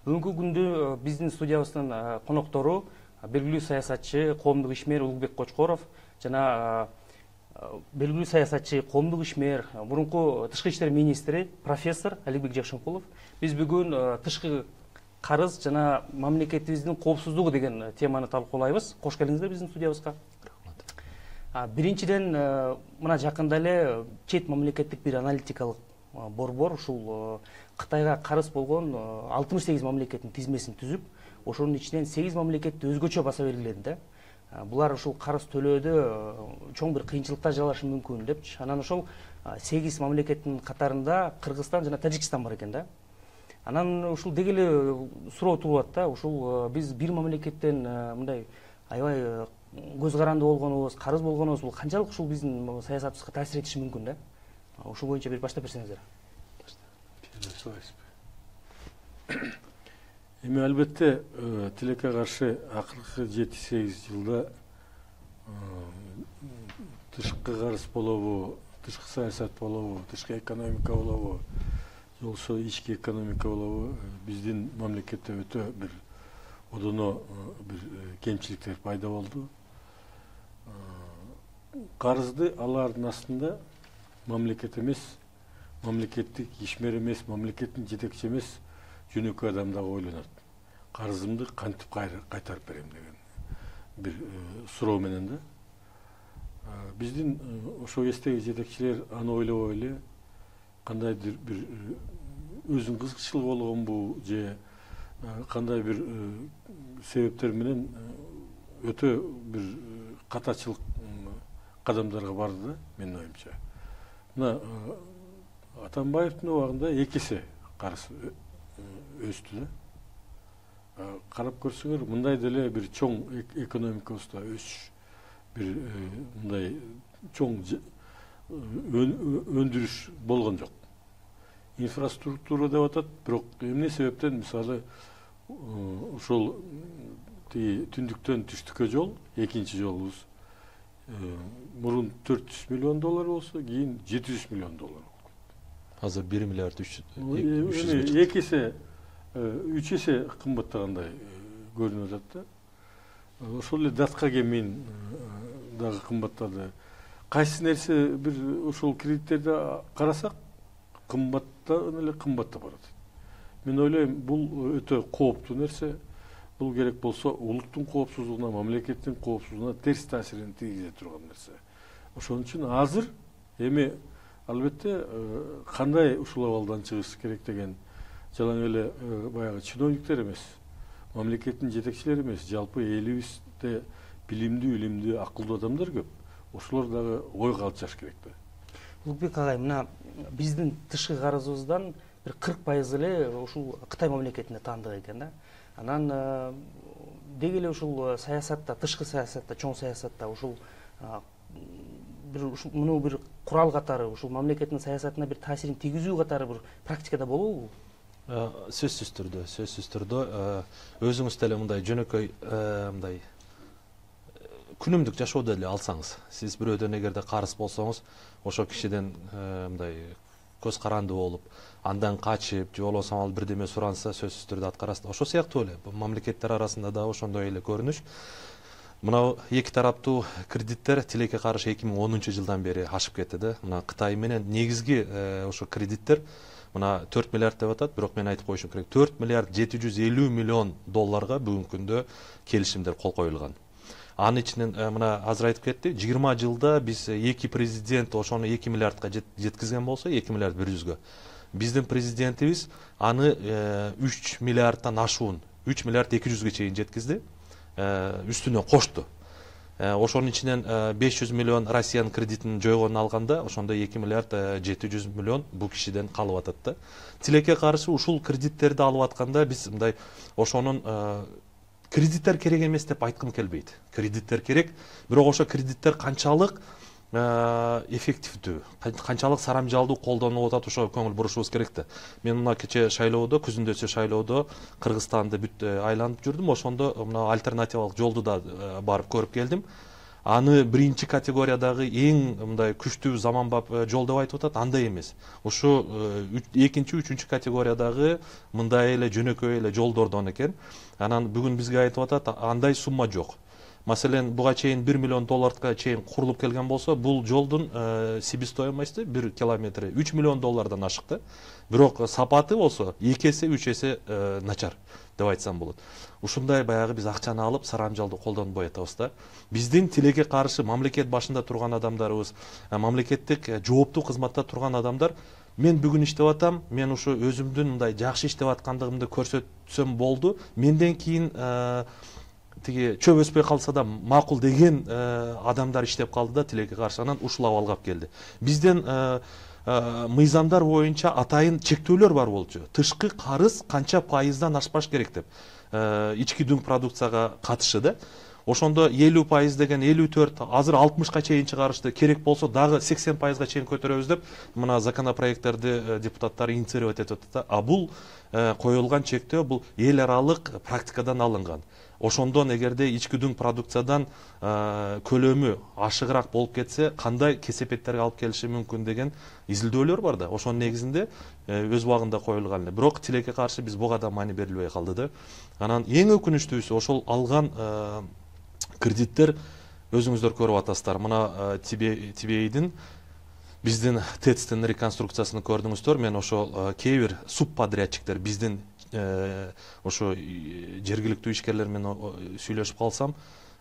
Бүгүнкү күндө биздин студиябыздын коноктору белгилүү саясатчы, коомдук ишмер Улукбек Кочкоров жана белгилүү саясатчы, коомдук ишмер, мурунку тышкы иштер министри профессор Аликбек Жакшынкулов. Биз бүгүн тышкы карыз жана мамлекетибиздин коопсуздугу деген теманы талкуулайбыз. Кош келиңиздер биздин студиябызга. Биринчиден, мына жакында эле чет мамлекеттик бир аналитикалык борбор ушул Кытайга карыз болгон 68 мамлекеттин тизмесин түзүп, ошонун ичинен 8 мамлекетти өзгөчө баса белгиледи да. Булар ушул карыз төлөөдө чоң бир кыйынчылыктар жалашы мүмкүн депчи. Анан ошол 8 мамлекеттин катарында Кыргызстан жана Тажикстан бар экен да. Анан ушул деги эле суроо туулат да. Ушул биз бир мамлекеттен мындай аябай көз каранды болгонубуз, карыз болгонубуз бул канчалык ушул биздин саясатыбызга таасир этиши мүмкүн да. Ушул боюнча бир баштап берсеңиздер. Эми албетте тилекке каршы акыркы 7-8 жылда тышкы карыз болобу, тышкы саясат болобу, тышкы экономика болобу, же болбосо ички экономика болобу, биздин мамлекетте өтө бир одоно бир кемчиликтер пайда болду. Карызды алардын астында мамлекет эмес, мамлекеттик ишмер эмес, мамлекеттин жетекчи эмес жөнөкөй адам дагы ойлонот. Карызымды кантип кайтарып берем деген бир суроо менен да. Биздин ошол кездеги жетекчилер аны ойлобой эле кандайдыр бир өзүнүн кызыкчылыгы болгонбу же кандай бир себептер менен өтө бир катачылык кадамдарга барды да, менин оюмча. Мына Атамбаевдин убагында 2 эсе карыз өстү да. Карап көрсөңөр, мындай деле бир чоң экономикабызда өсүш, бир мындай чоң өндүрүш болгон жок. Инфраструктура деп атат, бирок эмне себептен мисалы ошол түндүктөн түштүккө жол, экинчи жолубуз мурун $400 миллион болсо, кийин $700 миллион болгон. Азыр 1 миллиард 300 2 эсе 3 эсе кымбаттагандай көрүнүп атат да. Ошол эле датка кемин дагы кымбаттады. Кайсы нерсе бир ошол кредиттерди карасак кымбаттан эле кымбаттап барат. Мен ойлойм, бул өтө кооптуу нерсе. Бул керек болсо улуттун коопсуздугуна, мамлекеттин коопсуздугуна терс таасирин тийгизе турган нерсе. Ошон үчүн азыр эми албетте кандай ушул абалдан чыгыш керек деген жалаң эле баягы чиновниктер эмес, мамлекеттин жетекчилери эмес, жалпы элибизде билимдүү, акылдуу адамдар көп. Ошолор дагы ойго алышаш керек да. Улукбек агай, мына биздин тышкы карызыбыздан бир 40% эле ушул Кытай мамлекетине таандык экен да. Анан деги эле ушул саясатта, тышкы саясатта, чоң саясатта ушул муну бир курал катары, ушул мамлекеттин саясатына бир таасирин тийгизүү катары бир практикада болобу? Сөзсүз түрдө өзүңүз деле мындай жөнөкөй мындай күнүмдүк жашоодо эле алсаңыз, сиз бирөөдөн эгерде карыз болсоңуз, ошол кишиден мындай көз каранды болуп, андан качып, же болбосо ал бирдеме суранса, сөзсүз түрдө аткарасыз. Ошол сыяктуу эле мамлекеттер арасында да ошондой эле көрүнүш. Мына эки тараптуу кредиттер тилекке каршы 2010-жылдан бери ашып кетти да. Мына Кытай менен негизги ошо кредиттер мына 4 миллиард деп атат, бирок мен айтып коюшум керек. 4 миллиард 750 миллион долларга бүгүнкү күндө келишимдер кол коюлган. Анын ичинен мына азыр айтып кетти, 20 жылда биз эки президент ошону 2 миллиардка жеткизген болсо, 2 миллиард 100-гө. Биздин президентибиз аны 3 миллиардтан ашуун 3 миллиард 200-гө чейин жеткизди. Үстүнө кошту. Ошонун ичинен 500 миллион Россиянын кредитин жойгонун алганда, ошондо 2 миллиард 700 миллион бул кишиден калып атат да. Тилекке каршы ушул кредиттерди алып атканда биз мындай ошонун кредиттер керек эмес деп айткым келбейт. Кредиттер керек, бирок ошо кредиттер канчалык эффективдүү, канчалык сарамжалдуу колдонуп атат, ошо көңүл бурушубуз керек да. Мен мына кече шайлоодо, күзүндөсү шайлоодо Кыргызстанды бүт айланып жүрдүм. Ошондо мына альтернативалык жолду да барып көрүп келдим. аны биринчи категориядагы эң мындай күчтүү заманбап жол деп айтып атат, андай эмес. Ушу экинчи, үчүнчү категориядагы мындай эле жөнөкөй эле жолдордон экен. Анан бүгүн бизге айтып атат, андай сумма жок. Маселен, буга чейин 1 миллион долларга чейин курулуп келген болсо, бул жолдун себестоимости 1 километри 3 миллион доллардан ашыкты. Бирок сапаты болсо 2 эсе, 3 эсе начар деп айтсам болот. Ушундай баягы биз акчаны алып сарамжалды колдонбой атабыз да. Биздин тилекке каршы мамлекет башында турган адамдарыбыз, мамлекеттик жооптуу кызматта турган адамдар, мен бүгүн иштеп атам, мен ушу өзүмдүн мындай жакшы иштеп аткандыгымды көрсөтсөм болду. Менден кийин тиги чөп өспөй калса да макул деген адамдар иштеп калды да тилекке каршы, анан ушул абалга алып келди. Бизден мыйзамдар боюнча атайын чектөөлөр бар болчу. Тышкы карыз канча пайыздан ашпаш керек деп. Ички дүң продукцияга катышы да. Ошондо 50% деген 54, азыр 60ка чейин чыгарышты, керек болсо дагы 80%га чейин көтөрөбүз деп мына законопроекттерди депутаттар инициировать этип атат. А бул коюлган чектөө бул эл аралык практикадан алынган. Ошондон эгерде ички дүң продукциядан көлөмү ашыгыраак болуп кетсе, кандай кесепеттерге алып келиши мүмкүн деген изилдөөлөр бар да. Ошонун негизинде өз убагында коюлган эле. Бирок тилекке каршы биз буга да маани берилбей калды да. Анан эң өкүнүчтүүсү ошол алган кредиттер өзүңүздөр көрүп атасыздар. Мына Тибейдин биздин ТЭЦтин реконструкциясын көрдүңүздөр. Мен ошол кээ бир субподрядчиктер биздин ошо жергиликтүү ишкерлер менен сүйлөшүп калсам,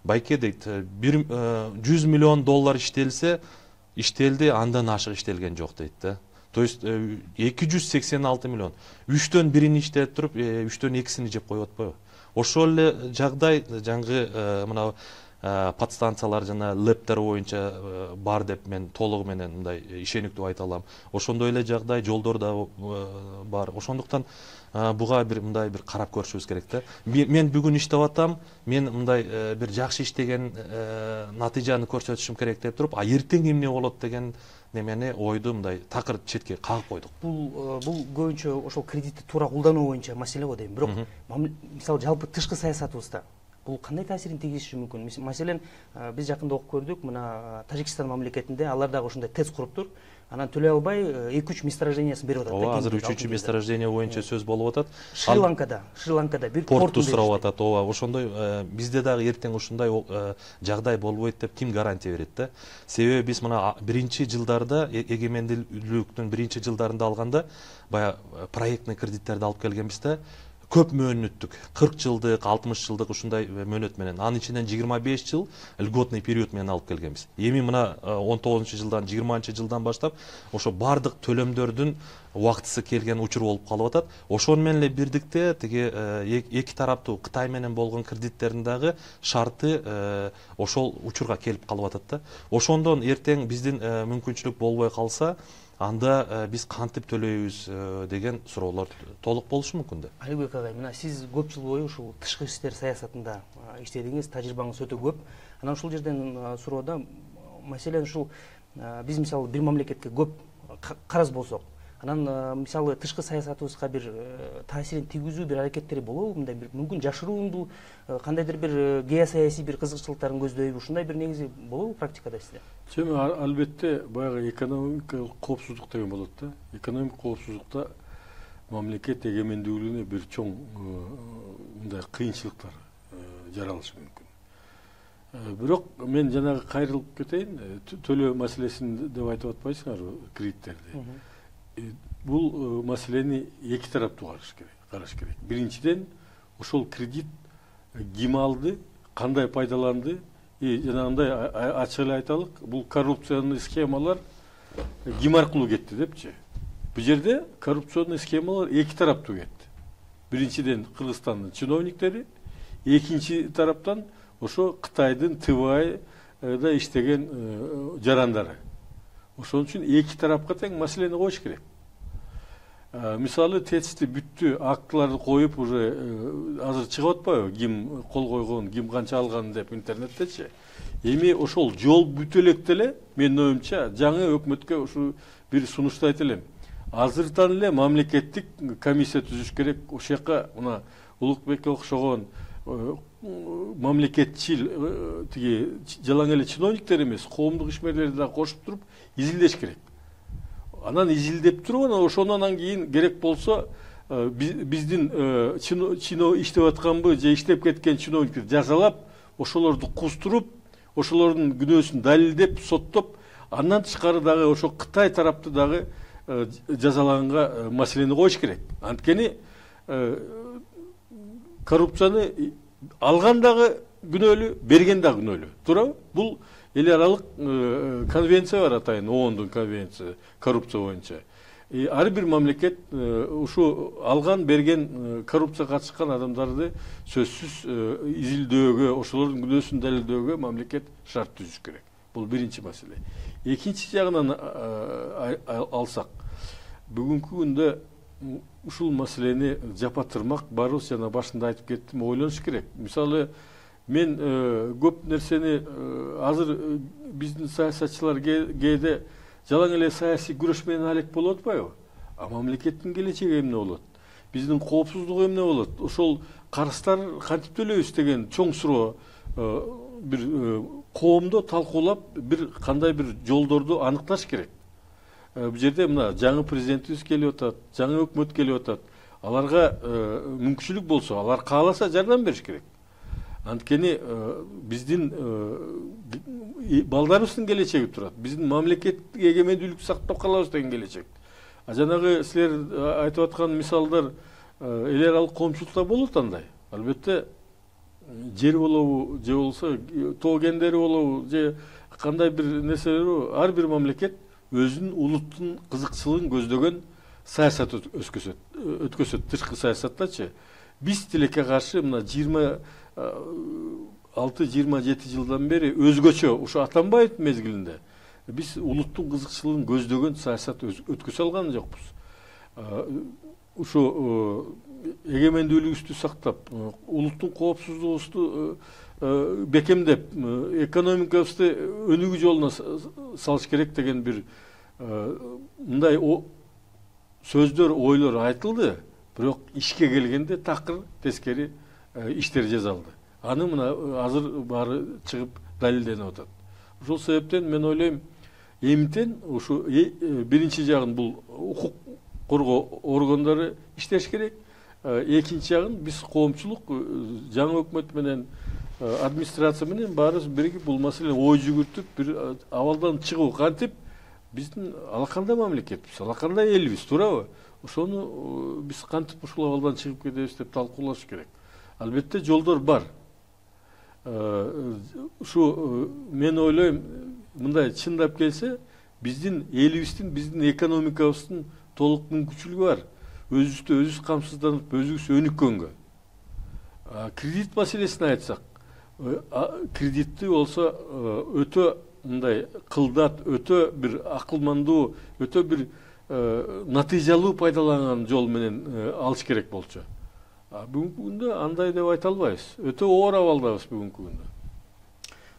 байке дейт, 100 миллион доллар иштелди, андан ашык иштелген жок дейт да. То есть 286 миллион. 3төн 1-ин иштеп туруп, 3төн 2-сини жеп коюп атпайбы? Ошол эле жагдай жаңгы мына подстанциялар жана лэптер боюнча бар деп мен толугу менен мындай ишениктүү айта алам. Ошондой эле жагдай жолдор да бар. Ошондуктан буга мындай бир карап көрүшүбүз керек да. Мен бүгүн иштеп атам, мен мындай бир жакшы иштеген натыйжаны көрсөтүшүм керек деп туруп, а эртең эмне болот деген немени ойду мындай такыр четке кагып койдук. Бул көбүнчө ошол кредитти туура колдонуу боюнча маселе го дейм. Бирок мисалы жалпы тышкы саясатыбызда бул кандай таасирин тийгизиши мүмкүн? Маселен, биз жакында окуп көрдүк, мына Тажикстан мамлекетинде алар дагы ушундай ТЭЦ куруптур. Анан төлөй албай 2-3 месторождениясын берип атат. Ооба, азыр 3-үчү месторождение боюнча сөз болуп атат. Шри-Ланкада бир порту сурап атат. Ооба, ошондой бизде дагы эртең ушундай жагдай болбойт деп ким гарантия берет да? Себеби биз мына биринчи жылдарда, эгемендүүлүктүн биринчи жылдарында алганда баягы проектный кредиттерди алып келгенбиз да. Көп мөөнөттүк, 40 жылдык, 60 жылдык ушундай мөөнөт менен. Анын ичинен 25 жыл льготный период менен алып келгенбиз. Эми мына 19-жылдан, 20-жылдан баштап ошо бардык төлөмдөрдүн убактысы келген учур болуп калып атат. Ошону менен эле бирдикте тиги эки тараптуу Кытай менен болгон кредиттердин дагы шарты ошол учурга келип калып атат да. Ошондон эртең биздин мүмкүнчүлүк болбой калса, анда биз кантип төлөйбүз деген суроолор толук болушу мүмкүн да. Алибек агай, мына сиз көп жыл бою ушул тышкы иштер саясатында иштедиңиз, тажрыйбаңыз өтө көп. Анан ушул жерден суроода, маселен ушул биз мисалы бир мамлекетке көп карыз болсок, анан мисалы тышкы саясатыбызга бир таасирин тийгизүү бир аракеттери болобу? Мындай бир мүмкүн жашыруундуу кандайдыр бир геосаясий бир кызыкчылыктарын көздөйбү? Ушундай бир негизи болобу практикада сизде? Албетте баягы экономикалык коопсуздук деген болот да. Экономикалык коопсуздукта мамлекет эгемендүүлүгүнө бир чоң мындай кыйынчылыктар жаралышы мүмкүн. Бирок мен жанагы кайрылып кетейин, төлөө маселесин деп айтып атпайсыңарбы, кредиттерди. Бул маселени эки тараптуу караш керек. Биринчиден, ошол кредит ким алды, кандай пайдаланды, жанагындай ачык эле айталык, бул коррупционный схемалар ким аркылуу кетти депчи. Бул жерде коррупционный схемалар эки тараптуу кетти. Биринчиден Кыргызстандын чиновниктери, экинчи тараптан ошо Кытайдын ТВАЙда иштеген жарандары. Ошон үчүн эки тарапка тең маселени коюш керек. Мисалы ТЭЦти бүттү актыларды коюп уже азыр чыгып атпайбы, ким кол койгон, ким канча алган деп интернеттечи. Эми ошол жол бүтө электе эле менин оюмча жаңы өкмөткө ушу бир сунушту айта элем. Азыртан эле мамлекеттик комиссия түзүш керек. Ошол жака мына Улукбекке окшогон мамлекетчил тиги жалаң эле чиновниктер эмес, коомдук ишмерлерди да кошуп туруп изилдеш керек. Анан изилдеп туруп, анан ошондон кийин керек болсо биздин иштеп атканбы же иштеп кеткен чиновниктер жазалап, ошолорду кустуруп, ошолордун күнөөсүн далилдеп, соттоп, андан тышкары дагы ошо Кытай тарапты дагы жазалаганга маселени коюш керек. Анткени коррупцияны алган дагы күнөөлүү, берген дагы күнөөлүү. Туурабы? Бул эл аралык конвенция бар, атайын ООНдун конвенциясы коррупция боюнча. Ар бир мамлекет ушу алган, берген, коррупцияга катышкан адамдарды сөзсүз изилдөөгө, ошолордун күнөөсүн далилдөөгө мамлекет шарт түзүш керек. Бул биринчи маселе. Экинчи жагынан алсак, бүгүнкү күндө ушул маселени жапатырмак барыбыз жана башында айтып кеттим, ойлонуш керек. Мисалы, мен көп нерсени азыр биздин саясатчылар кээде жалаң эле саясий күрөш менен алек болуп атпайбы? А мамлекеттин келечеги эмне болот? Биздин коопсуздугу эмне болот? Ошол карыздар кантип төлөйбүз деген чоң суроо бир коомдо талкуулап, бир кандай бир жолдорду аныкташ керек. Бул жерде мына жаңы президентибиз келип атат, жаңы өкмөт келип атат. Аларга мүмкүнчүлүк болсо, алар кааласа жардам бериш керек. Анткени биздин балдарыбыздын келечеги турат. Биздин мамлекеттик эгемендүүлүктү сактап калабыз деген келечек. Жанагы силер айтып аткан мисалдар эл аралык коомчулукта болот андай. Албетте жер болобу, же болсо тоо кендери болобу, же кандай бир нерселер, ар бир мамлекет өзүнүн улуттун кызыкчылыгын көздөгөн саясат өткөзөт, тышкы саясаттачы. Биз тилекке каршы мына 26-27 жылдан бери өзгөчө, ушу Атамбаев мезгилинде биз улуттун кызыкчылыгын көздөгөн саясат өткөзө алган жокпуз. Ушу эгемендүүлүгүбүздү сактап, улуттун коопсуздугубузду бекемдеп, экономикабызды өнүгүү жолуна салыш керек деген бир мындай сөздөр, ойлор айтылды, бирок ишке келгенде такыр тескери иштер жасалды. Аны мына азыр баары чыгып далилденип атат. Ошол себептен мен ойлойм, эмтен ушу биринчи жагын бул укук коргоо органдары иштеш керек. Экинчи жагын биз коомчулук жаңы өкмөт менен администрация менен баарыбыз биригип бул маселени ой жүгүртүп, бир абалдан чыгуу, кантип биздин алакандай мамлекетбиз, алакандай элбиз, туурабы? Ошону биз кантип ушул абалдан чыгып кетебиз деп талкуулаш керек. Албетте жолдор бар. Ушу мен ойлойм, мындай чындап келсе, биздин элибиздин, биздин экономикабыздын толук мүмкүнчүлүгү бар. Өзүбүздү өзүбүз камсызданып, өзүбүз өнүккөнгө. Кредит маселесин айтсак, кредитти болсо өтө мындай кылдат, өтө бир акылмандуу, өтө бир натыйжалуу пайдаланган жол менен алыш керек болчу. Бүгүнкү күндө андай деп айта албайбыз. Өтө оор абалдабыз бүгүнкү күндө.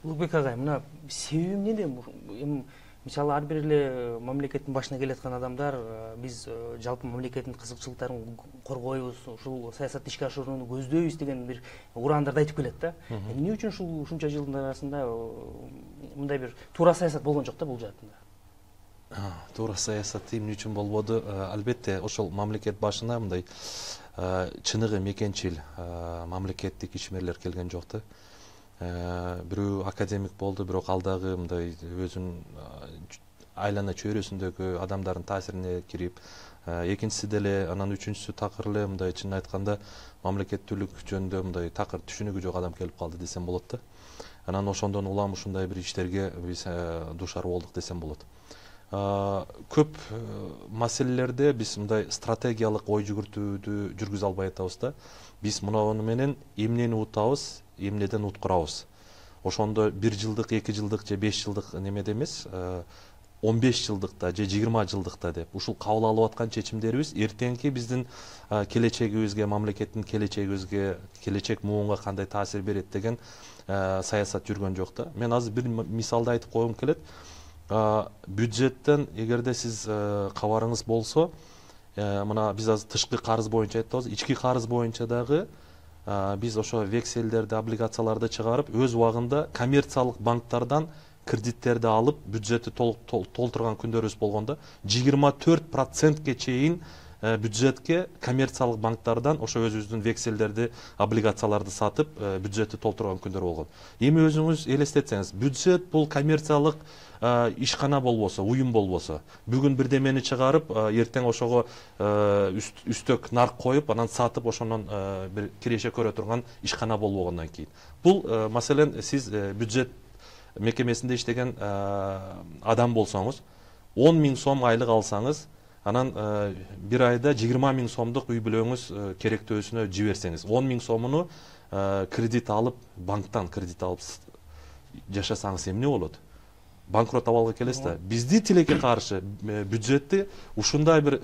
Улукбек агай, мына себеби эмнеде? Мисалы, ар бир эле мамлекеттин башына келаткан адамдар биз жалпы мамлекеттин кызыкчылыктарын коргойбуз, ушул саясатты ишке ашырууну көздөйбүз деген бир ураандарды айтып келет да. Эмне үчүн ушул ушунча жылдын арасында мындай бир туура саясат болгон жок да бул жаатында? Туура саясат эмне үчүн болбоду? Албетте, ошол мамлекет башына мындай чыныгы мекенчил мамлекеттик ишмерлер келген жок да. Бирөө академик болду, бирок ал дагы мындай өзүнүн айлана чөйрөсүндөгү адамдардын таасирине кирип, экинчиси деле, анан үчүнчүсү такыр эле мындай чын айтканда мамлекеттүүлүк жөнүндө мындай такыр түшүнүгү жок адам келип калды десем болот да. Анан ошондон улам ушундай бир иштерге биз дуушар болдук десем болот. Көп маселелерде биз мындай стратегиялык ой жүгүртүүдү жүргүзө албай атабыз да. Биз муну менен эмнени утабыз, эмнеден уткурабыз. Ошондо 1 жылдык, 2 жылдык же 5 жылдык немеде эмес, 15 жылдыкта же 20 жылдыкта деп ушул кабыл алып аткан чечимдерибиз эртеңки биздин келечегибизге, мамлекеттин келечегибизге, келечек муунга кандай таасир берет деген саясат жүргөн жок да. Мен азыр бир мисалды айтып койгум келет. Бюджеттен эгерде сиз кабарыңыз болсо, мына биз азыр тышкы карыз боюнча айтабыз, ички карыз боюнча дагы биз ошо векселдерди, облигацияларды чыгарып, өз убагында коммерциялык банктардан кредиттерди алып, бюджетти толтурган күндөрүбүз болгондо 24%ке чейин бюджетке коммерциялык банктардан ошо өзүбүздүн векселдерди, облигацияларды сатып, бюджетти толтурган күндөр болгон. Эми өзүңүз элестетсеңиз, бюджет бул коммерциялык ишкана болбосо, уюм болбосо, бүгүн бирдемени чыгарып, эртең ошого үстөк нарк коюп, анан сатып, ошонун бир киреше көрө турган ишкана болбогондон кийин. Бул маселен сиз бюджет мекемесинде иштеген адам болсоңуз, 10 000 сом айлык алсаңыз, анан бир айда 20 000 сомдук үй бүлөңүз керектөөсүнө жиберсеңиз, 10 000 сомуну кредит алып, банктан кредит алып жашасаңыз эмне болот? Банкрот абалга келесиз да. Бизди тилекке каршы бюджетти ушундай бир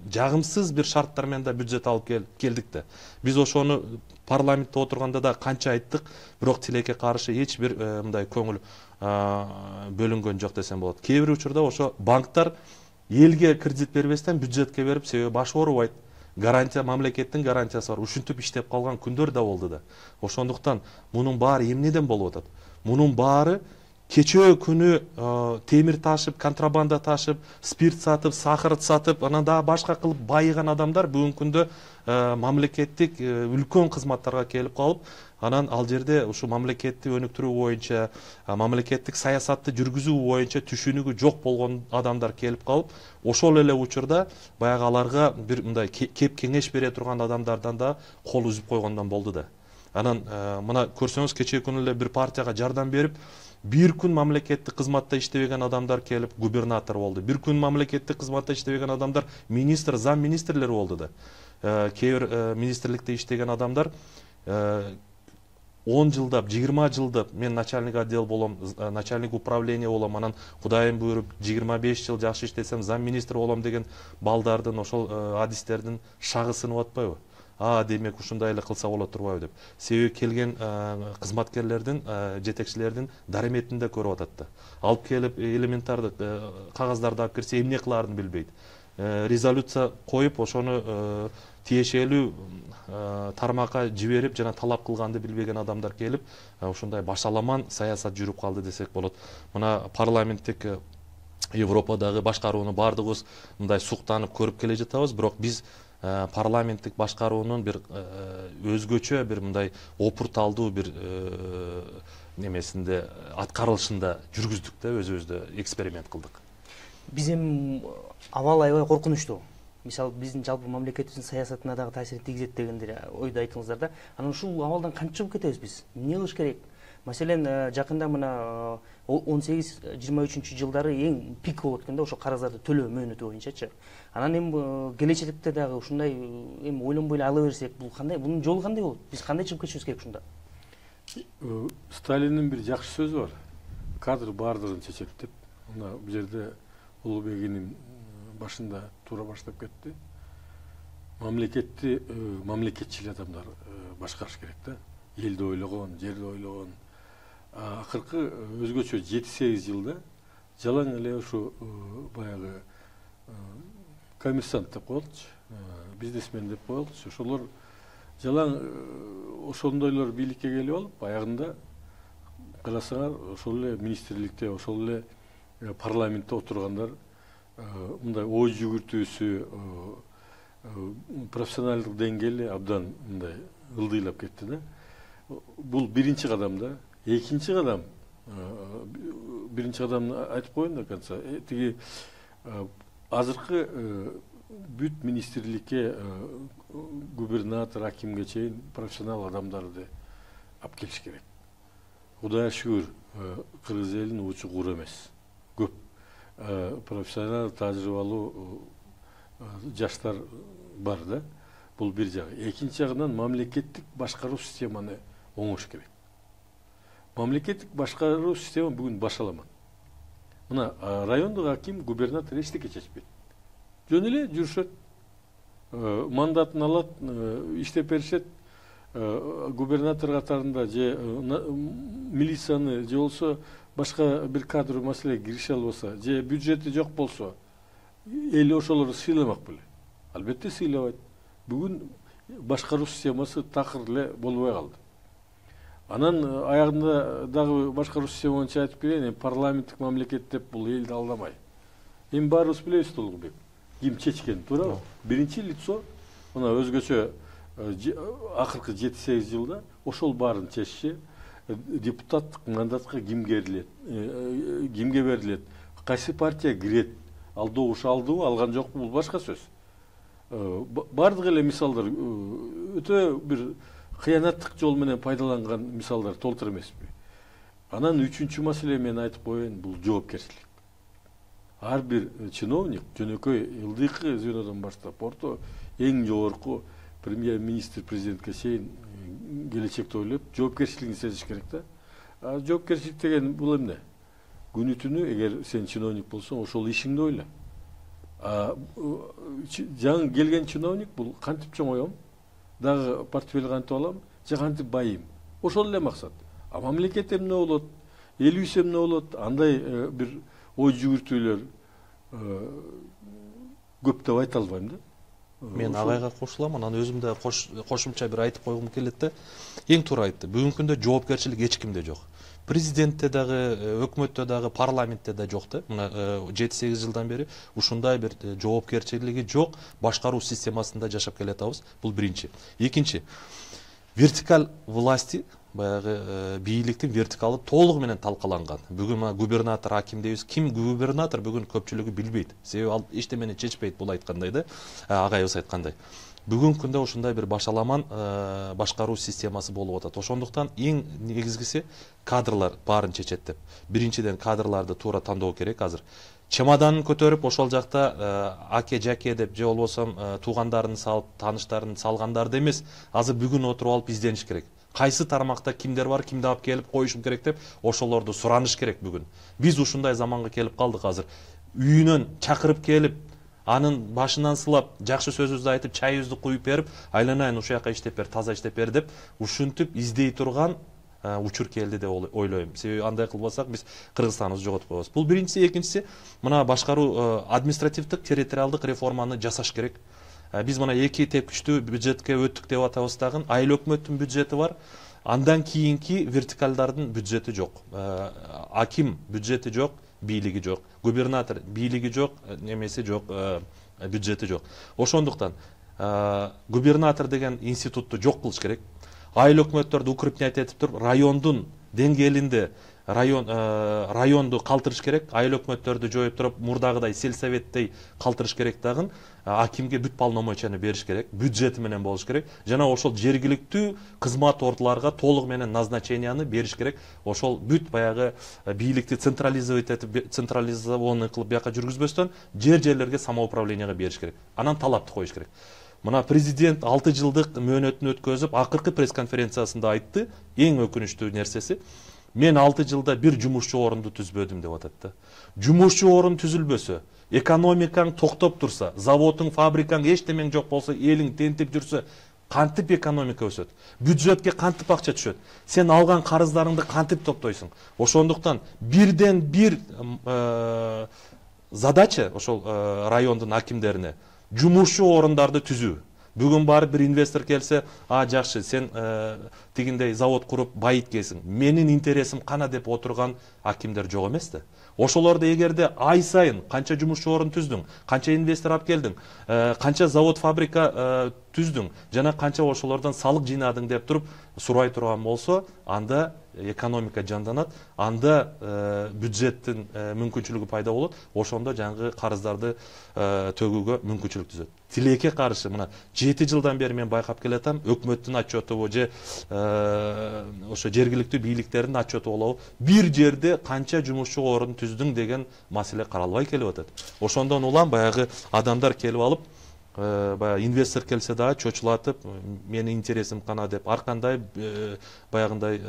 жагымсыз бир шарттар менен да бюджет алып келдик да. Биз ошону парламентте отурганда да канча айттык, бирок тилекке каршы эч бир мындай көңүл бөлүнгөн жок десем болот. Кээ бир учурда ошо банктар элге кредит бербестен бюджетке берип, себеби башы оорубайт. Гарантия, мамлекеттин гарантиясы бар. Ушинтип иштеп калган күндөр да болду да. Ошондуктан мунун баары эмнеден болуп атат? Мунун баары кечээ күнү темир ташып, контрабанда ташып, спирт сатып, сахар сатып, анан дагы башка кылып байыган адамдар бүгүнкү күндө мамлекеттик үлкөн кызматтарга келип калып, анан ал жерде ушу мамлекетти өнүктүрүү боюнча, мамлекеттик саясатты жүргүзүү боюнча түшүнүгү жок болгон адамдар келип калып, ошол эле учурда баягы аларга бир мындай кеп кеңеш бере турган адамдардан да кол үзүп койгондон болду да. Анан мына көрсөңүз, кечээ күнү эле бир партияга жардам берип, бир күн мамлекеттик кызматта иштебеген адамдар келип губернатор болду. Бир күн мамлекеттик кызматта иштебеген адамдар министр, зам министрлер болду да. Кээ бир министрликте иштеген адамдар 10 жылдап, 20 жылдап мен начальник отдел болом, начальник управление болом, анан Кудайым буйруп 25 жыл жакшы иштесем зам министр болом деген балдардын, ошол адистердин шагы сынып атпайбы? Демек ушундай эле кылса болот турбайбы деп. Себеби келген кызматкерлердин, жетекчилердин дареметинде көрүп атат да. Алып келип элементарды кагаздарды алып кирсе эмне кылаарын билбейт. Резолюция коюп, ошону тиешелүү тармакка жиберип жана талап кылганды билбеген адамдар келип, ушундай башаламан саясат жүрүп калды десек болот. Мына парламенттик Европадагы башкарууну бардыгыбыз мындай суктанып көрүп келе жатабыз, бирок биз парламенттик башкаруунун бир өзгөчө бир мындай опурталдуу бир немесинде аткарылышында жүргүздүк да, өзүбүздө эксперимент кылдык. Биз эми абал аябай коркунучтуу. Мисалы биздин жалпы мамлекетибиздин саясатына дагы таасирин тийгизет дегендер ойду айттыңыздар да. Анан ушул абалдан кантип чыгып кетебиз биз? Эмне кылыш керек? Маселен, жакында мына 18-23 жылдары эң пик болуп өткөндө ошо карыздарды төлөө мөөнөтү боюнчачы. Анан эми келечекте дагы ушундай эми ойлонбой эле ала берсек, бул кандай, бунун жолу кандай болот? Биз кандай чыгып кетишибиз керек ушунда? Сталиндин бир жакшы сөзү бар. Кадр бардыгын чечет деп. Мына бул жерде Улуубек иним башында туура баштап кетти. Мамлекетти мамлекетчил адамдар башкарыш керек да. Элди ойлогон, жерди ойлогон. Акыркы өзгөчө 7-8 жылда жалаң эле ушу баягы коммерсант деп коелучу, бизнесмен деп коелучу. Ошолор жалаң ошондойлор бийликке келип алып, аягында карасаңар ошол эле министрликте, ошол эле парламентте отургандар мындай ой жүгүртүүсү, профессионалдык деңгээли абдан мындай ылдыйлап кетти да. Бул биринчи кадам да. Экинчи кадам, биринчи кадамды айтып коеюн до конца. Тиги азыркы бүт министрликке, губернатор, акимге чейин профессионал адамдарды алып келиш керек. Кудайга шүгүр, кыргыз элинин учу кур эмес. Көп профессионал, тажрыйбалуу жаштар бар да. Бул бир жагы. Экинчи жагынан мамлекеттик башкаруу системаны оңош керек. Мамлекеттик башкаруу система бүгүн башаламан. Мына райондук аким, губернатор эчтеке чечпейт. Жөн эле жүрүшөт, мандатын алат, иштеп беришет. Губернатор катарында же милицияны же болсо башка бир кадр маселеге кирише албаса, же бюджети жок болсо, эл ошолорду сыйламак беле? Албетте сыйлабайт. Бүгүн башкаруу системасы такыр эле болбой калды. Анан аягында дагы башкаруу система боюнча айтып кетейин, парламенттик мамлекет деп бул элди алдамай. Эми баарыбыз билебиз Толугбек, ким чечкен, туурабы? Биринчи лицо мына өзгөчө акыркы 7-8 жылда ошол баарын чечиши, депутаттык мандатка кимге берилет, кайсы партия кирет, ал добуш алдыбы, алган жокпу, бул башка сөз. Бардык эле мисалдар өтө бир кыянаттык жол менен пайдаланган мисалдар толтур эмеспи. Анан үчүнчү маселе мен айтып коеюн, бул жоопкерчилик. Ар бир чиновник жөнөкөй ылдыйкы звенодон баштап орто эң жогорку премьер-министр, президентке чейин келечекти ойлоп жоопкерчилигин сезиш керек да. Жоопкерчилик деген бул эмне? Күнү түнү эгер сен чиновник болсоң, ошол ишиңди ойла. Жаңы келген чиновник бул кантип чоңойом, дагы портфель кантип алам, же кантип байым. Ошол эле максат. Мамлекет эмне болот, элибиз эмне болот, андай бир ой жүгүртүүлөр көп деп айта албайм да. Мен агайга кошулам, анан өзүм да кошумча бир айтып койгум келет да. Эң туура айтты. Бүгүнкү күндө жоопкерчилик эч кимде жок. Президентте дагы, өкмөттө дагы, парламентте да жок да. Мына 7-8 жылдан бери ушундай бир жоопкерчилиги жок башкаруу системасында жашап келатабыз. Бул биринчи. Экинчи, вертикаль власти, баягы бийликтин вертикалы толугу менен талкаланган. Бүгүн губернатор, аким дейбиз. Ким губернатор бүгүн көпчүлүгү билбейт. Себеби ал эчтемени чечпейт, бул айткандай да. Агайыбыз айткандай. Бүгүнкү күндө ушундай бир башаламан башкаруу системасы болуп атат. Ошондуктан эң негизгиси кадрлар баарын чечет деп. Биринчиден кадрларды туура тандоо керек азыр. Чемоданын көтөрүп ошол жакта аке жаке деп же болбосо туугандарын салып, тааныштарын салгандарды эмес, азыр бүгүн отуруп алып издениш керек. Кайсы тармакта кимдер бар, кимди алып келип коюшум керек деп ошолорду сураныш керек бүгүн. Биз ушундай заманга келип калдык азыр. Үйүнөн чакырып келип, анын башынан сылап, жакшы сөзүбүздү айтып, чайыбызды куюп берип, айланайын ушул жака иштеп бер, таза иштеп бер деп ушинтип издей турган учур келди деп ойлойм. Себеби андай кылбасак биз Кыргызстаныбызды жоготуп коебуз. Бул биринчиси, экинчиси мына башкаруу административдик, территориалдык реформаны жасаш керек. Биз мына 2 тепкичтүү бюджетке өттүк деп атабыз дагы. Айыл өкмөттүн бюджети бар. Андан кийинки вертикалдардын бюджети жок. Аким бюджети жок, бийлиги жок. Губернатор бийлиги жок, немеси жок, бюджети жок. Ошондуктан губернатор деген институтту жок кылыш керек. Айыл өкмөттөрдү укрепнять этип туруп, райондун деңгээлинде районду калтырыш керек. Айыл өкмөттөрдү жоюп туруп, мурдагыдай сельсоветтей калтырыш керек дагы. Акимге бүт полномочияны бериш керек, бюджети менен болуш керек. Жана ошол жергиликтүү кызмат ордуларга толугу менен назначенияны бериш керек. Ошол бүт баягы бийликти централизовать этип, централизованный кылып бияка жүргүзбөстөн жерлерге самоуправленияга бериш керек. Анан талапты коюш керек. Мына президент 6 жылдык мөөнөтүн өткөзүп, акыркы пресс-конференциясында айтты, эң өкүнүчтүү нерсеси, мен 6 жылда бир жумушчу орунду түзбөдүм деп атат да. Жумушчу орун түзүлбөсө, экономикаң токтоп турса, заводуң, фабрикаң эчтемең жок болсо, элиң тентип жүрсө, кантип экономика өсөт? Бюджетке кантип акча түшөт? Сен алган карыздарыңды кантип топтойсуң? Ошондуктан бирден бир задача ошол райондун акимдерине жумушчу орундарды түзүү. Бүгүн барып бир инвестор келсе, жакшы, сен тигиндей завод куруп байыткесиң. Менин интересим кана деп отурган акимдер жок эмес да. Ошолорду эгерде ай сайын канча жумушчу орун түздүң, канча инвестор алып келдиң, канча завод, фабрика түздүң, жана канча ошолордон салык жыйнадың деп туруп сурай турган болсо, анда экономика жанданат, анда бюджеттин мүмкүнчүлүгү пайда болот, ошондо жаңы карыздарды төгүүгө мүмкүнчүлүк түзөт. Тилекке каршы мына 7 жылдан бери мен байкап келатам, өкмөттүн отчету же ошо жергиликтүү бийликтердин отчету болобу, бир жерде канча жумушчу орун түздүң деген маселе каралбай келип атат. Ошондон улам баягы адамдар келип алып, баягы инвестор келсе дагы чочулатып, менин интересим кана деп ар кандай баягындай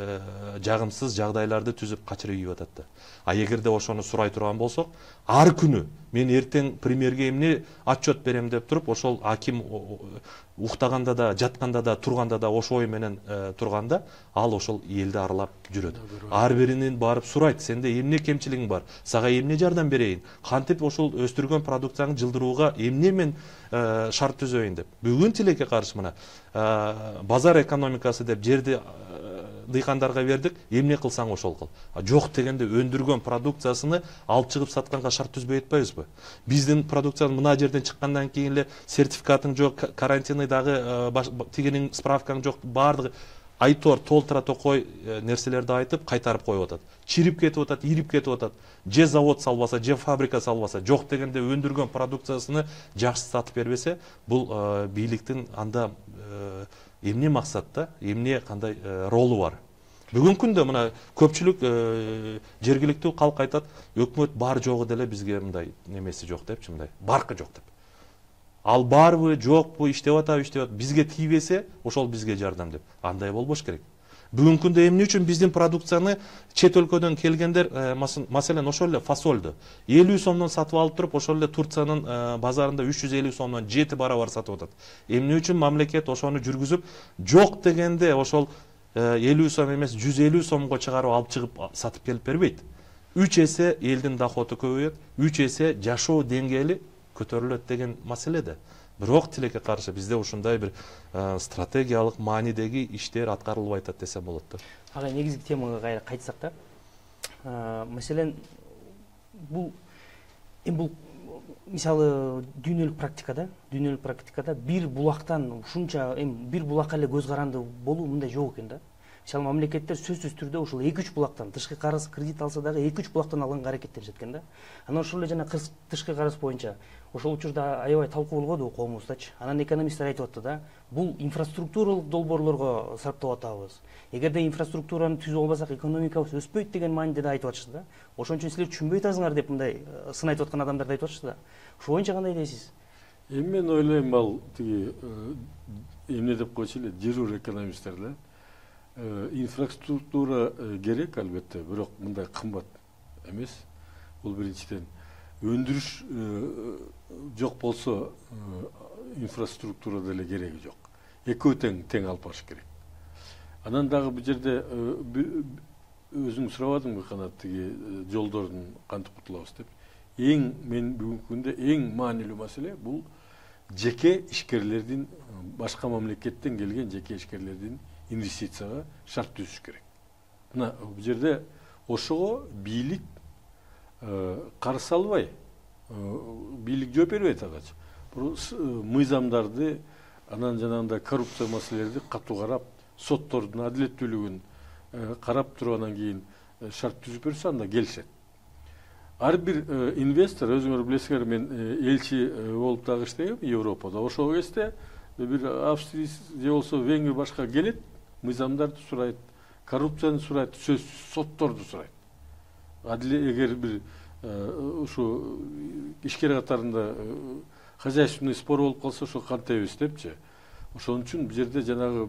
жагымсыз жагдайларды түзүп качырып ийип атат да. А эгерде ошону сурай турган болсок, ар күнү мен эртең премьерге эмне отчет берем деп туруп, ошол аким уктаганда да, жатканда да, турганда да ошо ой менен турганда, ал ошол элди аралап жүрөт. Ар биринин барып сурайт, сенде эмне кемчилигиң бар, сага эмне жардам берейин, кантип ошол өстүргөн продукцияңды жылдырууга эмне мен шарт түзөйүн деп. Бүгүн тилекке каршы мына базар экономикасы деп жерди дыйкандарга бердик, эмне кылсаң ошол кыл. Жок дегенде өндүргөн продукциясыны алып чыгып сатканга шарт түзбөй атпайбызбы? Биздин продукциянын мына жерден чыккандан кийин эле сертификатың жок, карантинный дагы тигинин справкаң жок, баардыгы айтор толтура токой нерселерди айтып кайтарып коюп атат. Чирип кетип атат, ирип кетип атат. Же завод салбаса, же фабрика салбаса, жок дегенде өндүргөн продукциясыны жакшы сатып бербесе, бул бийликтин анда эмне максатта, эмне кандай ролу бар? Бүгүнкү күндө мына көпчүлүк жергиликтүү калк айтат, өкмөт бар жогу деле бизге мындай немеси жок депчи, мындай баркы жок деп. Ал барбы, жокпу, иштеп атабы, бизге тийбесе, ошол бизге жардам деп. Андай болбош керек. Бүгүнкү күндө эмне үчүн биздин продукцияны чет өлкөдөн келгендер, маселен ошол эле фасолду 50 сомдон сатып алып туруп, ошол эле Турциянын базарында 350 сомдон 7 барабар сатып атат. Эмне үчүн мамлекет ошону жүргүзүп, жок дегенде ошол 50 сом эмес 150 сомго чыгарып алып чыгып сатып келип бербейт. 3 эсе элдин доходу көбөйөт, 3 эсе жашоо деңгээли көтөрүлөт деген маселеде. Бирок тилекке каршы бизде ушундай бир стратегиялык маанидеги иштер аткарылбай атат десем болот да. Ага, негизги темага кайра кайтсак да, маселен бул мисалы дүйнөлүк практикада бир булактан ушунча бир булакка эле көз каранды болуу мындай жок экен да. Мисалы мамлекеттер сөзсүз түрдө ушул 2-3 булактан тышкы карыз кредит алса дагы 2-3 булактан алганга аракеттенишет экен да. Анан ошол эле жана тышкы карыз боюнча ошол учурда аябай талкуу болгоду коомубуздачы. Анан экономисттер айтып атты да, бул инфраструктуралык долбоорлорго сарптап атабыз. Эгерде инфраструктураны түзүп албасак экономикабыз өспөйт деген мааниде да айтып атышты да. Ошон үчүн силер түшүнбөй атасыңар деп мындай сын айтып аткан адамдар да айтып атышты да. Ошол боюнча кандай дейсиз? Мен ойлойм ал тиги эмне деп койчу эле жируур экономисттер да. Инфраструктура керек албетте, бирок мындай кымбат эмес. Бул биринчиден өндүрүш жок болсо инфраструктура деле кереги жок. Экөө тең алып барыш керек. Анан дагы бул жерде өзүң сурабадыңбы канат тиги жолдордун кантип кутулабыз деп. Мен бүгүнкү күндө эң маанилүү маселе бул жеке ишкерлердин, башка мамлекеттен келген жеке ишкерлердин инвестицияга шарт түзүш керек. Мына бул жерде ошого бийлик карыз албай, бийлик жооп бербейт агачы. Мыйзамдарды, анан жанагындай коррупция маселелерди катуу карап, соттордун адилеттүүлүгүн карап туруп анан кийин шарт түзүп берсе анда келишет. Ар бир инвестор, өзүңөр билесиңер, мен элчи болуп дагы иштегем Европада. Ошол кезде бир Австрия же болсо Венгрия башка келет, мыйзамдарды сурайт, коррупцияны сурайт, сотторду сурайт. Эгер бир ушу ишкер катарында хозяйственный спор болуп калса, ошо кантебиз депчи. Ошон үчүн бул жерде жанагы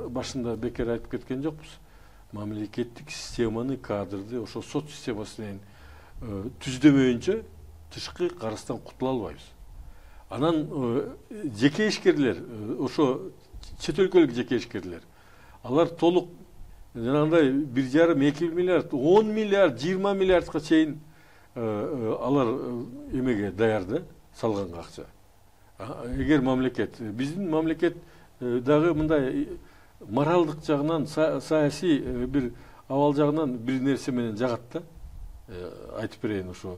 башында бекер айтып кеткен жокпуз. Мамлекеттик системаны, кадрды ошо сот системасы менен түздөмөйүнчө тышкы карыздан кутула албайбыз. Анан жеке ишкерлер, ошо чет өлкөлүк жеке ишкерлер, алар толук жанагындай 1,5-2 миллиард, 10 миллиард, 20 миллиардга чейин алар эмеге даяр да, салганга акча. Эгер мамлекет, биздин мамлекет дагы мындай моралдык жагынан, саясий бир абал жагынан бир нерсе менен жагат да. Айтып берейин ошо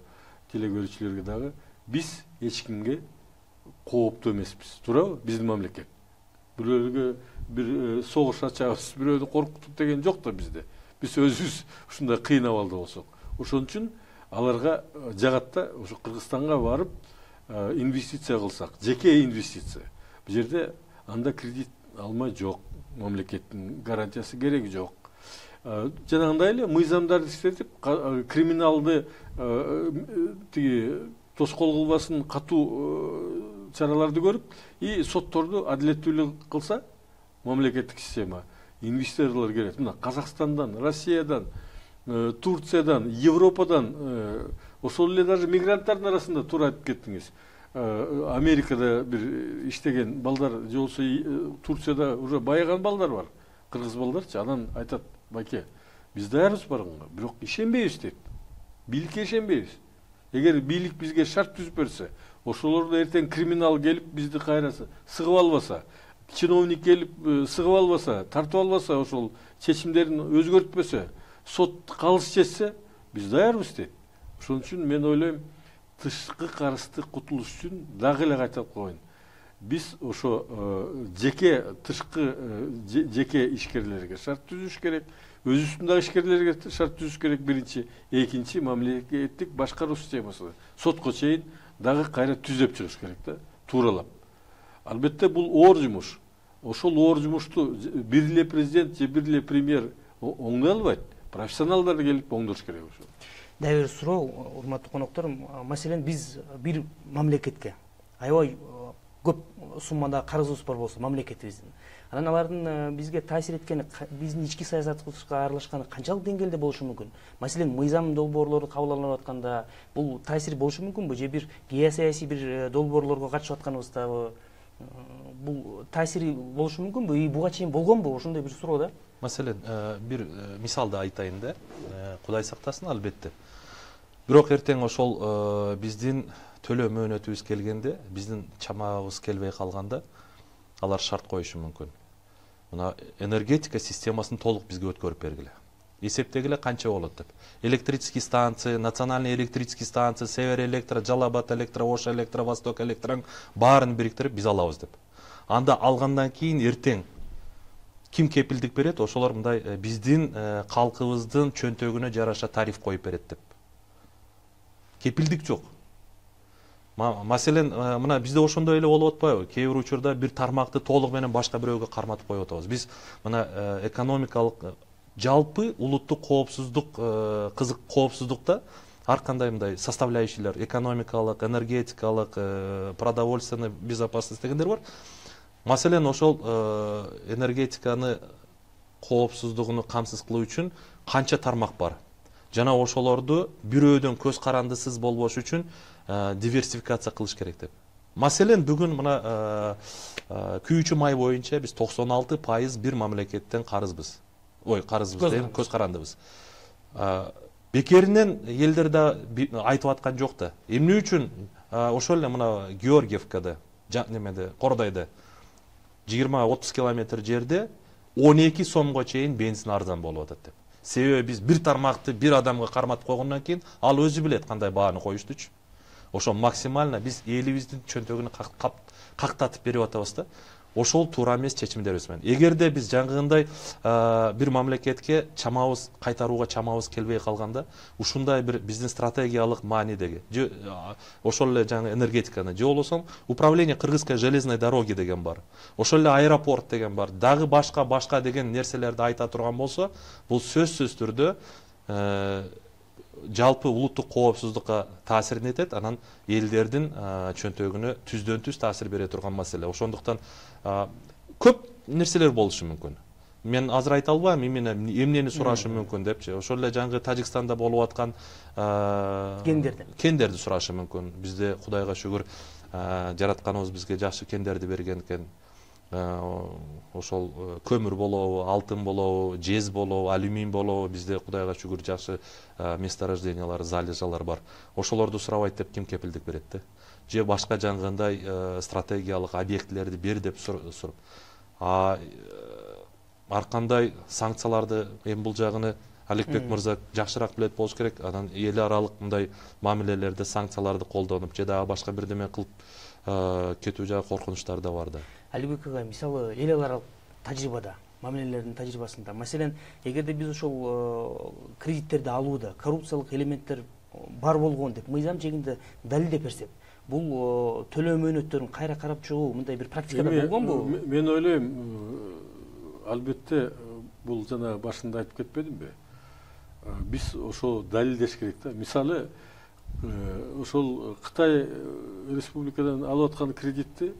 телекөрүүчүлөргө дагы, биз эч кимге кооптуу эмеспиз, туурабы? Биздин мамлекет. Бирөөгө бир согуш ачабыз, бирөөнү коркутуп деген жок да бизде. Биз өзүбүз ушундай кыйын абалда болсок. Ошон үчүн аларга жагат да, ошо Кыргызстанга барып инвестиция кылсак, жеке инвестиция. Бул жерде анда кредит алмай жок, мамлекеттин гарантиясы кереги жок. Жанагындай эле мыйзамдарды иштетип, криминалды тиги тоскоол кылбасын, катуу чараларды көрүп, и сотторду адилеттүүлүк кылса, мамлекеттик система, инвесторлор келет. Мына Казакстандан, Россиядан, Турциядан, Европадан, ошол эле даже мигранттардын арасында туура айтып кеттиңиз. Америкада бир иштеген балдар, же болсо Турцияда уже байыган балдар бар, кыргыз балдарчы. Анан айтат, байке, биз даярбыз барганга, бирок ишенбейбиз дейт. Бийликке ишенбейбиз. Эгер бийлик бизге шарт түзүп берсе, ошолорду эртең криминал келип бизди кайра сыгып албаса, чиновник келип сыгып албаса, тартып албаса, ошол чечимдерин өзгөртпөсө, сот калыс чечсе, биз даярбыз дейт. Ошон үчүн мен ойлойм, тышкы карызды кутулуш үчүн дагы эле кайталап коеюн. Биз ошо жеке тышкы жеке ишкерлерге шарт түзүш керек, өзүбүздүн ишкерлерге шарт түзүш керек биринчи, экинчи мамлекеттик башкаруу системасы сотко чейин дагы кайра түзөп чыгыш керек да, тууралап. Албетте бул оор жумуш. Ошол оор жумушту бир эле президент же бир эле премьер оңдой албайт. Профессионалдар келип оңдош керек ошо. Дагы бир суроо, урматтуу коноктор, маселен биз бир мамлекетке аябай көп суммада карызыбыз бар болсо мамлекетибиздин, анан алардын бизге таасир эткени, биздин ички саясатыбызга аралашканы канчалык деңгээлде болушу мүмкүн? Маселен, мыйзам долбоорлору кабыл алынып атканда бул таасир болушу мүмкүнбү? Же бир геосаясий бир долбоорлорго катышып атканыбыздабы бул таасири болушу мүмкүнбү? И буга чейин болгонбу? Ошондой бир суроо да. Маселен, бир мисалды айтайын да. Кудай сактасын, албетте. Бирок эртең ошол биздин төлөө мөөнөтүбүз келгенде, биздин чамабыз келбей калганда, алар шарт коюшу мүмкүн. Мына энергетика системасын толук бизге өткөрүп бергиле. Эсептегиле канча болот деп. Электрический станция, национальный электрический станция, Север электро, Жалал-Абад электро, Ош электро, Восток электро баарын бириктирип биз алабыз деп. Анда алгандан кийин эртең ким кепилдик берет? Ошолор мындай биздин калкыбыздын чөнтөгүнө жараша тариф коюп берет деп. Кепилдик жок. Маселен, мына бизде ошондой эле болуп атпайбы? Кээ бир учурда бир тармакты толук менен башка бирөөгө карматып коюп атабыз. Биз мына экономикалык жалпы улуттук коопсуздук, кызык коопсуздукта ар кандай мындай составляющийлер, экономикалык, энергетикалык, продовольственный безопасность дегендер бар. Маселен, ошол энергетиканы коопсуздугуну камсыз кылуу үчүн канча тармак бар. Жана ошолорду бирөөдөн көз карандысыз болбош үчүн диверсификация кылыш керек деп. Маселен, бүгүн мына күйүүчү май боюнча биз 96% бир мамлекеттен карызбыз. Карызбыз дейм, көз карандыбыз. Бекеринен элдер да айтып аткан жок да. Эмне үчүн ошол эле мына Георгиевкада, немеде, Кордайда 20-30 километр жерде 12 сомго чейин бензин арзан болуп атат деп. Себеби биз бир тармакты бир адамга карматып койгондон кийин ал өзү билет кандай бааны коюштучу. Ошо максимально биз элибиздин чөнтөгүнө кактатып берип атабыз да. Ошол туура эмес чечимдерибиз менен. Эгерде биз жаңгындай бир мамлекетке чамабыз кайтарууга чамабыз келбей калганда, ушундай бир биздин стратегиялык маанидеги, ошол эле жаңы энергетиканы, же болбосо управление Кыргызской железной дороги деген бар. Ошол эле аэропорт деген бар. Дагы башка деген нерселерди айта турган болсо, бул сөзсүз түрдө жалпы улуттук коопсуздукка таасирин этет, анан элдердин чөнтөгүнө түздөн-түз таасир бере турган маселе. Ошондуктан көп нерселер болушу мүмкүн. Мен азыр айта албайм, эмнени сурашы мүмкүн депчи. Ошол эле жаңы Тажикстанда болуп аткан кендерди сурашы мүмкүн. Бизде Кудайга шүгүр жаратканыбыз бизге жакшы кендерди берген экен. Ошол көмүр болобу, алтын болобу, жез болобу, алюминий болобу, бизде Кудайга шүгүр жакшы месторождениялар, залежалар бар. Ошолорду сурабайт деп ким кепилдик берет да? Же башка жаңгындай стратегиялык объектилерди бер деп суруп. Ар кандай санкцияларды бул жагыны Аликбек мырза жакшыраак билет болуш керек. Анан эл аралык мындай мамилелерде санкцияларды колдонуп, же дагы башка бирдеме кылып кетүү жагы коркунучтар да бар да. Алибек ага, мисалы эл аралык тажрыйбада, мамилелердин тажрыйбасында, маселен, эгерде биз ошол кредиттерди алууда коррупциялык элементтер бар болгон деп мыйзам чегинде далилдеп берсек, бул төлөө мөөнөттөрүн кайра карап чыгуу мындай бир практикада болгонбу? Мен ойлойм, албетте бул жана башында айтып кетпедимби? Биз ошо далилдеш керек да. Мисалы, ошол Кытай республикадан алып аткан кредитти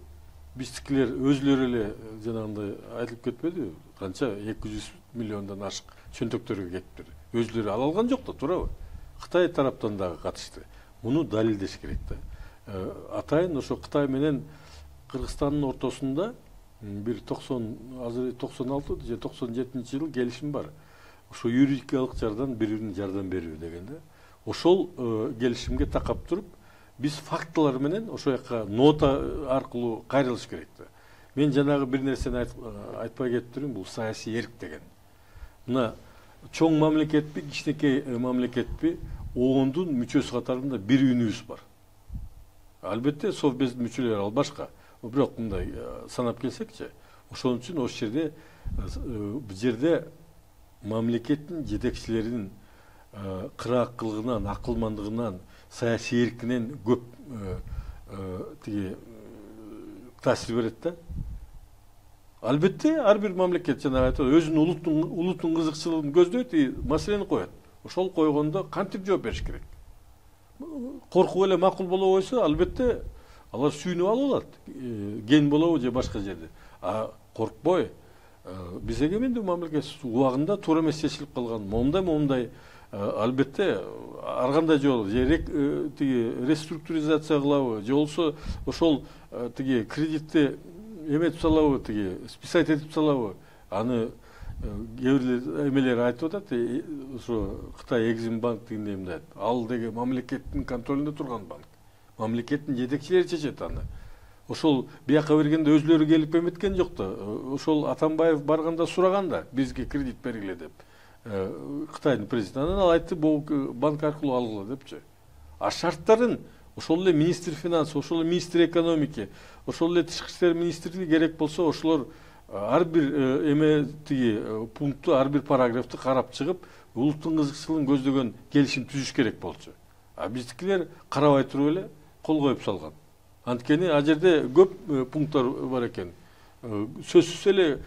биздикилер өзлөрү эле жанагындай айтылып кетпедиби? Канча 200 миллиондон ашык чөнтөктөргө кетиптир. Өзлөрү ала алган жок да, туурабы? Кытай тараптан дагы катышты. Муну далилдеш керек да. Атайын ошо Кытай менен Кыргызстандын ортосунда бир 96 же 97-жылы келишим бар. Ошо юридикалык жардам, бири-бирine жардам берүү дегенде. ошол келишимге такап туруп биз фактылар менен ошол жака нота аркылуу кайрылыш керек да. Мен жанагы бир нерсени айтпай кетиптирмин, бул саясий эрк деген. Мына чоң мамлекетпи, кичинекей мамлекетпи, оондун мүчөсү катарында бир үнүбүз бар. Албетте совбездин мүчөлөрү ал башка. Бирок мындай санап келсекчи, ошон үчүн ошол жерде мамлекеттин жетекчилеринин кыраакылыгынан, акылмандыгынан, саясий эркинен көп тиги таасир берет да. Албетте ар бир мамлекет жана айтат, өзүнүн улуттун кызыкчылыгын көздөйт, маселени коет. Ошол койгондо кантип жооп бериш керек? Коркуп эле макул боло койсо, албетте алар сүйүнүп алып алат. Ген болобу же башка жерде. А коркпой, биз эгемендүү мамлекет убагында туура эмес чечилип калган. Момундай албетте ар кандай жол, же тиги реструктуризация кылабы, же болбосо ошол тиги кредитти эметип салабы, тиги списать этип салабы. Аны кээ бир эмелер айтып атат, ошо Кытай Экзимбанк дегенде эмне, ал деги мамлекеттин контролунда турган банк. Мамлекеттин жетекчилери чечет аны. Ошол бияка бергенде өзлөрү келип эметкен жок да. Ошол Атамбаев барганда сураган да, бизге кредит бергиле деп. Кытайдын президенти ал айтты, бул банк аркылуу алгыла депчи. А шарттарын ошол эле министр финанс, ошол эле министр экономики, ошол эле тышкы иштер министрлиги керек болсо ошолор ар бир эме тиги пунктту, ар бир параграфты карап чыгып, улуттун кызыкчылыгын көздөгөн келишим түзүш керек болчу. А биздикилер карабай туруп эле кол коюп салган. Анткени ал жерде көп пункттар бар экен. Сөзсүз эле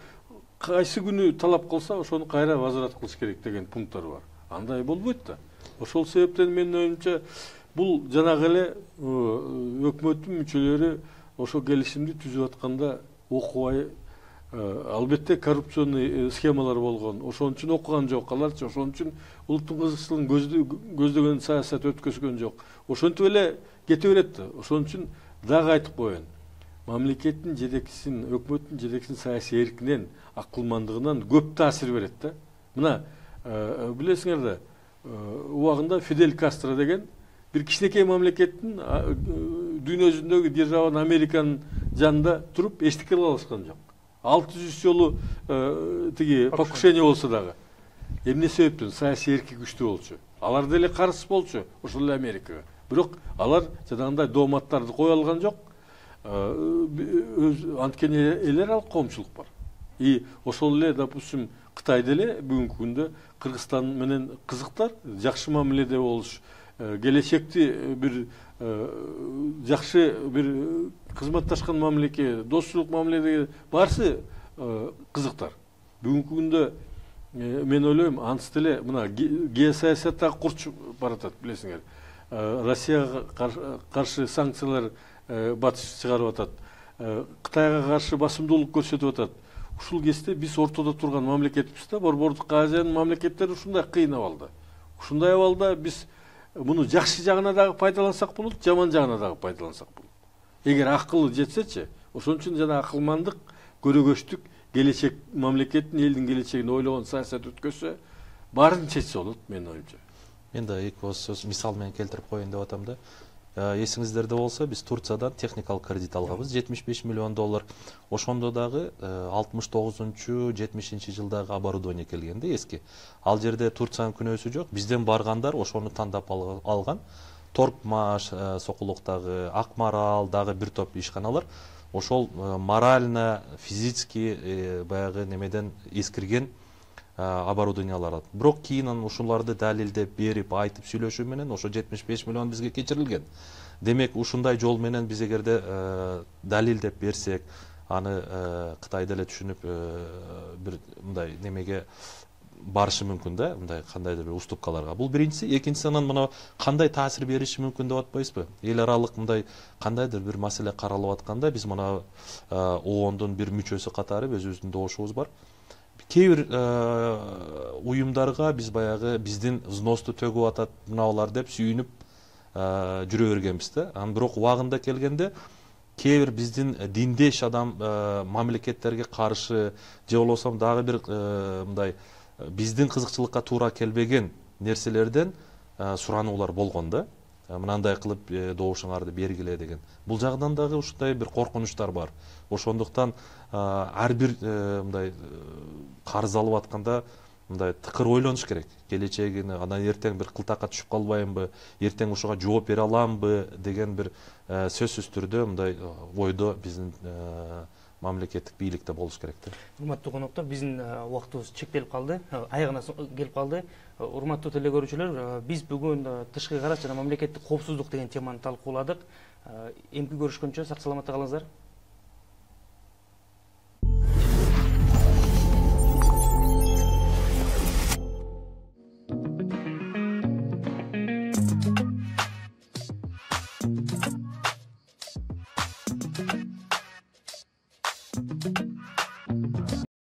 кайсы күнү талап кылса, ошону кайра возврат кылыш керек деген пункттар бар. Андай болбойт да. Ошол себептен менин оюмча бул жанагы эле өкмөттүн мүчөлөрү ошол келишимди түзүп атканда окубай, албетте коррупционный схемалар болгон. Ошон үчүн окуган жок аларчы, ошон үчүн улуттун кызыкчылыгын көздөгөн саясат өткөзгөн жок. Ошентип эле кете берет да. Ошон үчүн дагы айтып коеюн. Мамлекеттин жетекчисинин, өкмөттүн жетекчисинин саясий эркинен, акылмандыгынан көп таасир берет да. Мына, билесиңер да, убагында Фидель Кастро деген бир кичинекей мамлекеттин дүйнө жүзүндөгү державанын Американын жанында туруп эчтеке кыла алышкан жок. 600 жолу тиги покушение болсо дагы. Эмне себептен? Саясий эрки күчтүү болчу. Алар деле карыз болчу, ошол эле Америкага. Бирок алар жанагындай дооматтарды кое алган жок. Анткени элер ал коомчулук бар. И ошол эле, допустим, Кытайда эле бүгүнкү күндө Кыргызстан менен кызыктар, жакшы мамиледе болуш, келечекти бир жакшы бир кызматташкан мамлеке, достчулук мамиледе барсы кызыктар. Бүгүнкү күндө мен ойлойм, ансы деле мына геосаясат дагы курчуп баратат, билесиңер. Россияга каршы санкциялар батыш чыгарып атат. Кытайга каршы басымдуулук көрсөтүп атат. Ушул кезде биз ортодо турган мамлекетпиз да, Борбордук Азиянын мамлекеттери ушундай кыйын абалда. Ушундай абалда биз муну жакшы жагына дагы пайдалансак болот, жаман жагына дагы пайдалансак болот. Эгер акылы жетсечи, ошон үчүн жана акылмандык, көрөгөчтүк, келечек мамлекеттин, элдин келечегин ойлогон саясат өткөзсө, баарын чечсе болот, менин оюмча. Мен да эки ооз сөз мисал менен келтирип коеюн деп атам да. Эсиңиздерде болсо, биз Турциядан техникалык кредит алганбыз, $75 миллион. Ошондо дагы 69-70 жылдагы оборудование келген да, эски. Ал жерде Турциянын күнөөсү жок. Бизден баргандар ошону тандап алган. Торпмаш, Сокулуктагы, Акмарал, дагы бир топ ишканалар ошол морально, физически баягы немеден эскирген оборудованиялар. Бирок кийин ушуларды далилдеп берип, айтып сүйлөшүү менен ошо 75 миллион бизге кечирилген. Демек, ушундай жол менен биз эгерде далилдеп берсек, аны Кытайда эле түшүнүп бир мындай немеге барышы мүмкүн да, мындай кандайдыр бир уступкаларга. Бул биринчиси, экинчиси анан мына кандай таасир бериши мүмкүн деп атпайсызбы? Эл аралык мындай кандайдыр бир маселе каралып атканда, биз мына ООНдун бир мүчөсү катары өзүбүздүн добушубуз бар. Кээ бир уюмдарга биз баягы биздин взносты төгүп атат мыналар деп сүйүнүп жүрө бергенбиз да. Анан бирок убагында келгенде кээ бир биздин диндеш адам мамлекеттерге каршы же болбосо дагы бир мындай биздин кызыкчылыкка туура келбеген нерселерден сурануулар болгон да. Мынандай кылып добушуңарды бергиле деген. Бул жагдан дагы ушундай бир коркунучтар бар. Ошондуктан ар бир мындай карыз алып атканда мындай тыкыр ойлонуш керек. Келечегине, анан эртең бир кылтакка түшүп калбайымбы, эртең ушуга жооп бере аламбы деген бир сөзсүз түрдө мындай ойдо биздин мамлекеттик бийликте болуш керек да. Урматтуу коноктор, биздин убактыбыз чектелип калды, аягына келип калды. Урматтуу теле көрүүчүлөр, биз бүгүн тышкы караш жана мамлекеттик коопсуздук деген теманы талкууладык. Эмки көрүшкөнчө сак саламатта калыңыздар.